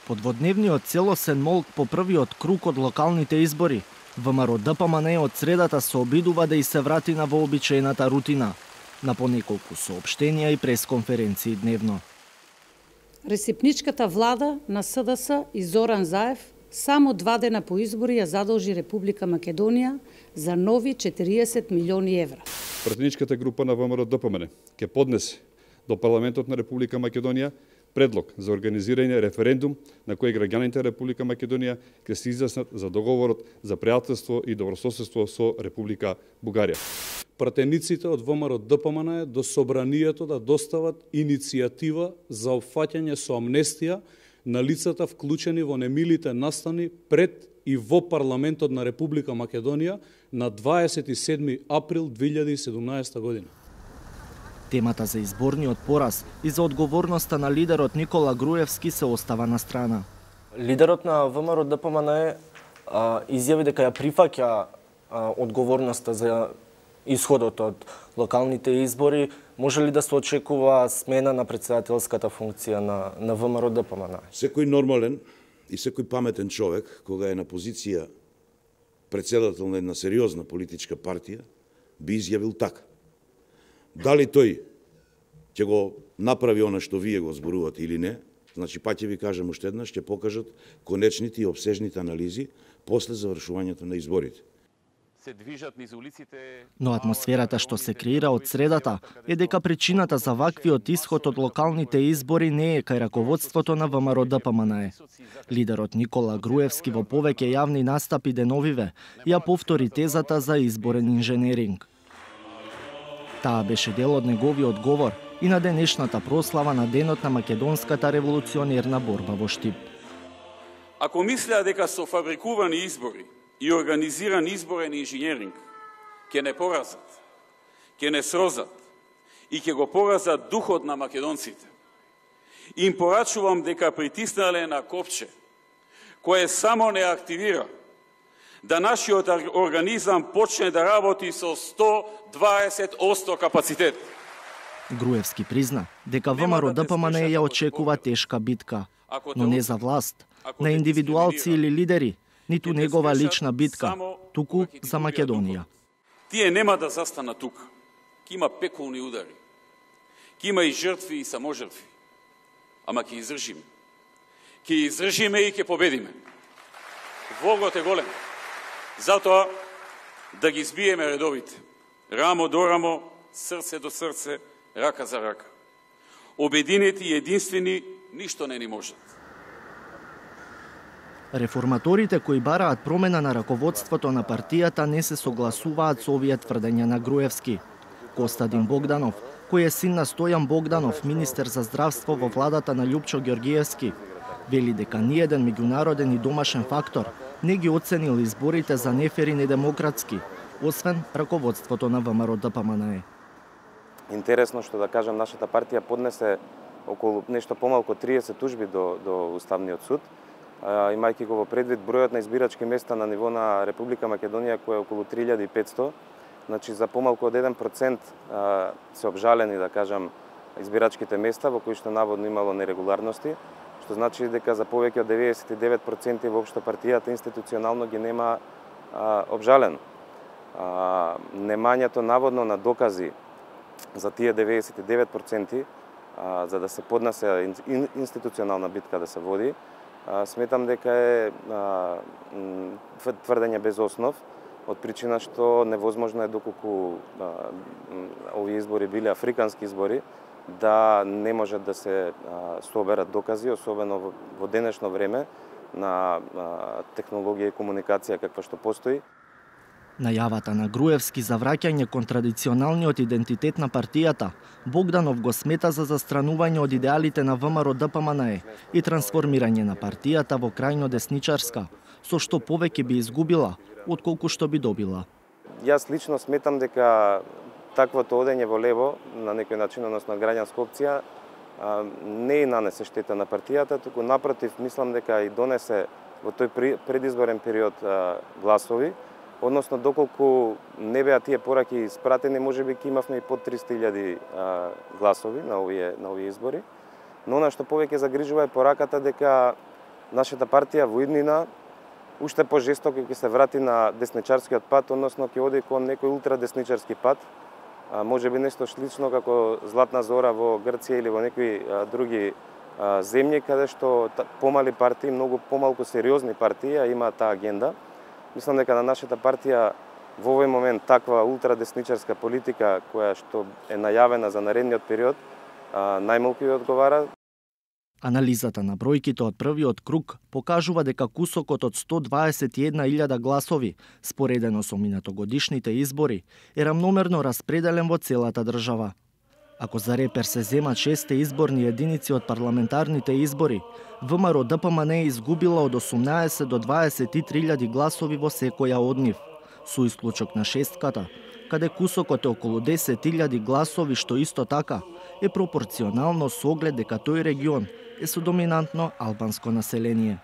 Подводневниот целосен молк по првиот круг од локалните избори. ВМРО-ДПМН од средата се обидува да и се врати на вообичаената рутина, на понеколку соопштенија и пресконференции дневно. Ресипничката влада на СДС и Зоран Заев само 2 дена по избори ја задолжи Република Македонија за нови 40 милиони евра. Пратеничката група на ВМРО-ДПМН ќе поднесе до Парламентот на Република Македонија предлог за организирање референдум на кој граѓаните Република Македонија ќе се изјаснат за договорот за пријателство и добрососедство со Република Бугарија. Пратениците од ВМРО-ДПМН до собранието да достават иницијатива за опфаќање со амнестија на лицата вклучени во немилите настани пред и во Парламентот на Република Македонија на 27 април 2017 година. Темата за изборниот пораз и за одговорноста на лидерот Никола Груевски се остава на страна. Лидерот на ВМРО-ДПМН изјави дека ја прифаќа одговорноста за исходот од локалните избори. Може ли да се очекува смена на претседателската функција на ВМРО-ДПМН? Секој нормален и секој паметен човек, кога е на позиција претседател на една сериозна политичка партија, би изјавил така. Дали тој ќе го направи она што вие го зборувате или не, значи па ќе ви кажам уште еднаш, ќе покажат конечните и обсежните анализи после завршувањето на изборите. Но атмосферата што се креира од средата е дека причината за ваквиот исход од локалните избори не е кај раководството на ВМРО-ДПМН. Лидерот Никола Груевски во повеќе јавни настапи деновиве ја повтори тезата за изборен инженеринг. Таа беше дел од неговиот говор и на денешната прослава на денот на македонската револуционерна борба во Штип. Ако мислеа дека со фабрикувани избори и организиран изборен инженеринг ќе не поразат, ќе не срозат и ќе го поразат духот на македонците, им порачувам дека притиснале на копче кое само не активира, да нашиот организам почне да работи со 120% капацитет. Груевски призна дека ВМРО-ДПМН ја очекува тешка битка, но не за власт, на индивидуалци или лидери, ниту негова лична битка, туку за Македонија. Тие нема да застана тука. Ке има пеколни удари. Ке има и жртви и саможртви. Ама ќе издржиме. Ќе издржиме и ќе победиме. Вогот е голем. Затоа да ги збиеме редовите. Рамо до рамо, срце до срце, рака за рака. Обединети и единствени ништо не ни можат. Реформаторите кои бараат промена на раководството на партијата не се согласуваат со овие тврдења на Груевски. Костадин Богданов, кој е син на Стојан Богданов, министер за здравство во владата на Љупчо Ѓоргиевски, вели дека ниеден меѓународен и домашен фактор не ги оценил изборите за нефер и недемократски, освен раководството на ВМРО-ДПМН. Интересно што да кажам, нашата партија поднесе околу нешто помалку 30 тужби до Уставниот суд, имајќи го во предвид бројот на избирачки места на ниво на Република Македонија, кој е околу 3500, значи за помалку од 1% се обжалени, да кажам, избирачките места во кои што наводно имало нерегуларности, што значи дека за повеќе од 99% воопшто партијата институционално ги нема обжалено. Немањето наводно на докази за тие 99%, за да се поднесе институционална битка да се води, сметам дека е тврдење без основ, од причина што невозможно е доколку овие избори биле африкански избори, да не можат да се соберат докази, особено во денешно време на технологија и комуникација каква што постои. Најавата на Груевски за враќање кон традиционалниот идентитет на партијата, Богданов го смета за застранување од идеалите на ВМРО-ДПМН и трансформирање на партијата во крајно десничарска, со што повеќе би изгубила, отколку што би добила. Јас лично сметам дека таквото одење во лево, на некој начин, односно граѓанска опција, не нанесе штета на партијата, туку напротив, мислам дека и донесе во тој предизборен период гласови, односно доколку не беа тие пораки испратени, можеби ќе имавме и под 300.000 гласови на овие избори. Но она што повеќе загрижува е пораката дека нашата партија во иднина уште пожестоко ќе се врати на десничарскиот пат, односно ќе оди кон некој ултрадесничарски пат. Може би нешто слично како Златна Зора во Грција или во некои други земји, каде што помали партии, многу помалку сериозни партии имаат таа агенда. Мислам дека на нашата партија во овој момент таква ултрадесничарска политика која што е најавена за наредниот период најмалку ја одговара. Анализата на бројките од првиот круг покажува дека кусокот од 121.000 гласови, споредено со минатогодишните избори, е рамномерно распределен во целата држава. Ако за репер се земат 6 изборни единици од парламентарните избори, ВМРО ДПМН е изгубила од 18 до 23.000 гласови во секоја од нив, со исклучок на шестката, каде кусокот е околу 10.000 гласови, што исто така е пропорционално со оглед дека тој регион е со доминантно албанско население.